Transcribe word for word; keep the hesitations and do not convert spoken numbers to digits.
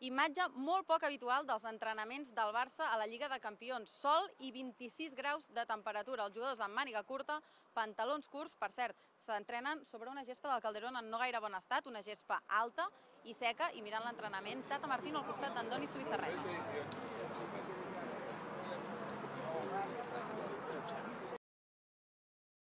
Imatge molt poc habitual dels entrenaments del Barça a la Lliga de Campions. Sol i vint-i-sis graus de temperatura. Els jugadors amb màniga curta, pantalons curts, per cert, s'entrenen sobre una gespa del Calderón en no gaire bon estat, una gespa alta i seca, i mirant l'entrenament, Tata Martino al costat d'Andoni Zubizarreta.